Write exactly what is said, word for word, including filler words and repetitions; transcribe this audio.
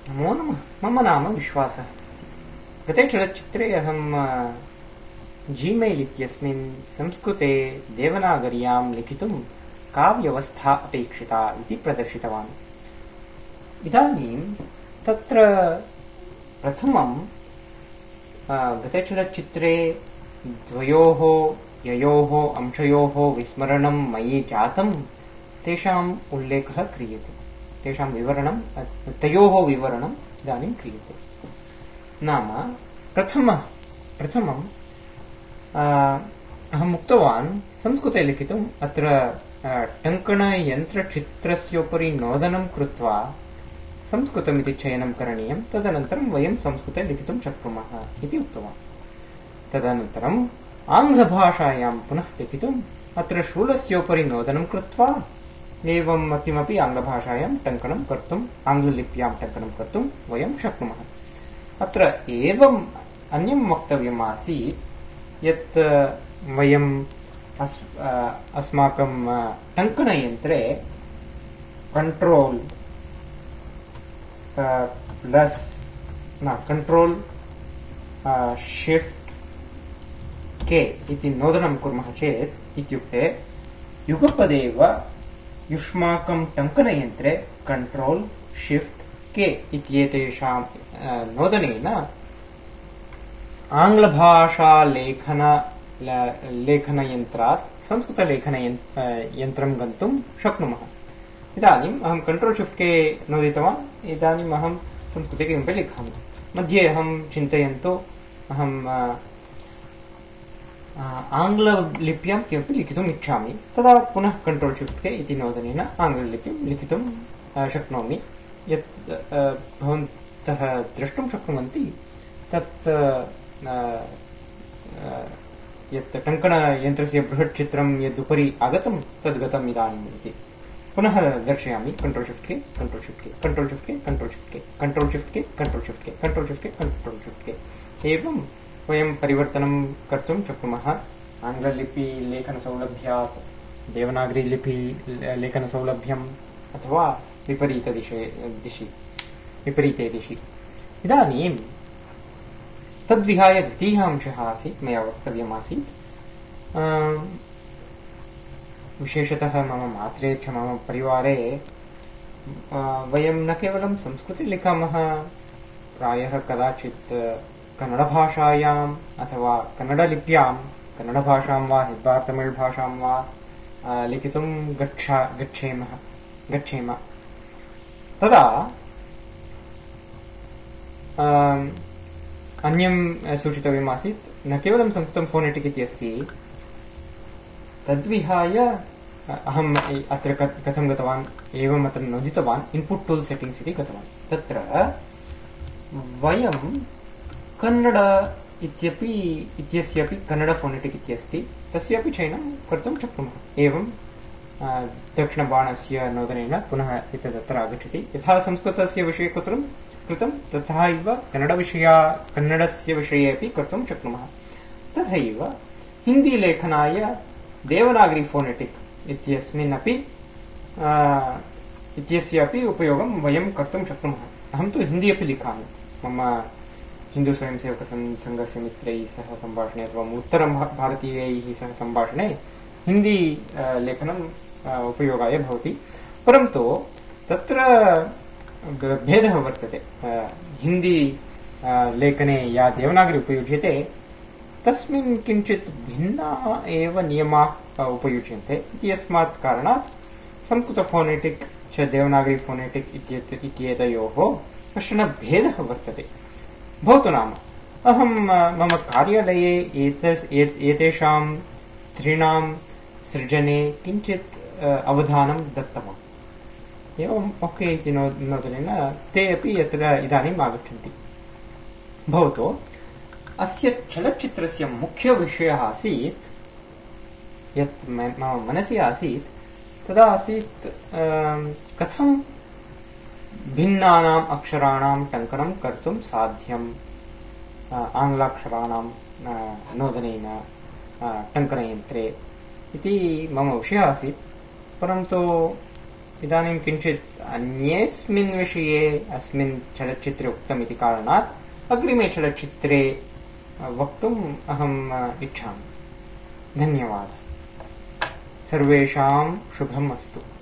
नमो नमः। मम नाम विश्वासः। गते चलच्चित्रे अहं जीमेल् इत्यस्मिन् संस्कृते देवनागर्यां लिखितुं का व्यवस्था अपेक्षिता इति प्रदर्शितवान्। इदानीं तत्र प्रथमं गते चलच्चित्रे द्वयोः ययोः अंशयोः विस्मरणं मयि जातं तेषाम् उल्लेखः क्रियते, तेषां विवरणं तयोः विवरणम् इदानीं क्रियते। नाम प्रथमः प्रथमम् अहम् उक्तवान् संस्कृते लिखितुम् अत्र टङ्कणयन्त्रचित्रस्योपरि नोदनं कृत्वा संस्कृतमिति चयनं करणीयं, तदनन्तरं वयं संस्कृते लिखितुं शक्नुमः इति उक्तवान्। तदनन्तरम् आङ्ग्लभाषायां पुनः लिखितुम् अत्र शूलस्योपरि नोदनं कृत्वा एवं किमपि आङ्ग्लभाषायां टङ्कनं कर्तुम् आङ्ग्ललिप्यां टङ्कनं कर्तुं वयं शक्नुमः। अत्र एवम् अन्यं वक्तव्यम् आसीत् यत् वयम् अस् अस्माकं टङ्कणयन्त्रे कण्ट्रोल् प्लस् न कण्ट्रोल् शिफ्ट् के इति नोदनं कुर्मः चेत् इत्युक्ते युगपदेव युष्माकं टङ्कणयन्त्रे कण्ट्रोल् शिफ्ट् के इत्येतेषां नोदनेन आङ्ग्लभाषालेखन लेखनयन्त्रात् संस्कृतलेखनयन्त्रं गन्तुं शक्नुमः। इदानीम् अहं कण्ट्रोल् शिफ्ट् के नोदितवान्। इदानीम् अहं संस्कृते किमपि लिखामि। मध्ये अहं चिन्तयन्तु अहं आङ्ग्ललिप्यां किमपि लिखितुम् इच्छामि, तदा पुनः कण्ट्रोल् शिफ्ट् के इति नोदनेन आङ्ग्ललिपिं लिखितुं शक्नोमि। यत् भवन्तः द्रष्टुं शक्नुवन्ति तत् यत् टङ्कणयन्त्रस्य बृहत् चित्रं यदुपरि आगतं तद् गतम् इदानीम् इति पुनः दर्शयामि। कण्ट्रोल् शिफ्ट् के कण्ट्रोल् शिफ्ट् के कण्ट्रोल् शिफ्ट् के कण्ट्रोल् शिफ्ट् के कण्ट्रोल् शिफ्ट् के कण्ट्रोल् शिफ्ट् के कण्ट्रोल् शिफ्ट् के कण्ट्रोल् शिफ्ट् के एवं वयं परिवर्तनं कर्तुं शक्नुमः। आङ्ग्ललिपि लेखनसौलभ्यात् देवनागरीलिपि लेखनसौलभ्यम् अथवा विपरीतदिशे दिशि विपरीते दिशि। इदानीं तद्विहाय द्वितीयः अंशः आसीत्, मया वक्तव्यमासीत्। विशेषतः मम मात्रे च मम परिवारे वयं न केवलं संस्कृते लिखामः, प्रायः कदाचित् कन्नडभाषायाम् अथवा कन्नडलिप्यां कन्नडभाषां वा हेब्बार् तमिळ् भाषां वा लिखितुं गच्छा गच्छेमः गच्छेम तदा अन्यं सूचितव्यमासीत्। न केवलं संस्कृतं फोनेटिक् इति अस्ति, तद्विहाय अहम् अत्र कथं गतवान्, एवम् अत्र नोदितवान् इन्पुट् टूल् सेटिङ्ग्स् इति गतवान्। तत्र वयं कन्नड इत्यपि इत्यस्यापि कन्नड फोनेटिक् इति अस्ति, तस्यापि चयनं कर्तुं शक्नुमः। एवं दक्षिणबाणस्य नोदनेन पुनः एतदत्र आगच्छति। यथा संस्कृतस्य विषये कृतं कृतं तथा एव कन्नडविषया कन्नडस्य विषये अपि कर्तुं शक्नुमः। तथैव हिन्दीलेखनाय देवनागरी फोनेटिक् इत्यस्मिन् अपि इत्यस्यापि उपयोगं वयं कर्तुं शक्नुमः। अहं तु हिन्दी अपि लिखामि। मम हिन्दू स्वयंसेवक संघस्य मित्रैः सह सम्भाषणे अथवा उत्तरं भारतीयैः सह सम्भाषणे हिन्दी लेखनम् उपयोगाय भवति। परन्तु तत्र भेदः वर्तते। हिन्दी लेखने या देवनागरी उपयुज्यते तस्मिन् किञ्चित् भिन्नाः एव नियमाः उपयुज्यन्ते। इत्यस्मात् कारणात् संस्कृत फोनेटिक् च देवनागरी फोनेटिक् इत्येतयोः कश्चन भेदः वर्तते। भवतु नाम अहं मम कार्यालये एतेषां त्रीणां सृजने किञ्चित् अवधानं दत्तवान्। एवम् ओके इति नोदनेन ते अपि यत्र इदानीम् आगच्छन्ति। भवतु अस्य चलच्चित्रस्य मुख्यविषयः आसीत् यत् मम मनसि आसीत् तदा आसीत् कथं भिन्नानाम् अक्षराणां टङ्कनं कर्तुं साध्यम् आङ्ग्लाक्षराणां नोदनेन टङ्कनयन्त्रे इति मम विषयः आसीत्। परन्तु इदानीं किञ्चित् अन्येऽस्मिन् विषये अस्मिन् चलच्चित्रे उक्तमिति कारणात् अग्रिमे चलच्चित्रे वक्तुम् अहम् इच्छामि। धन्यवादः। सर्वेषां शुभम् अस्तु।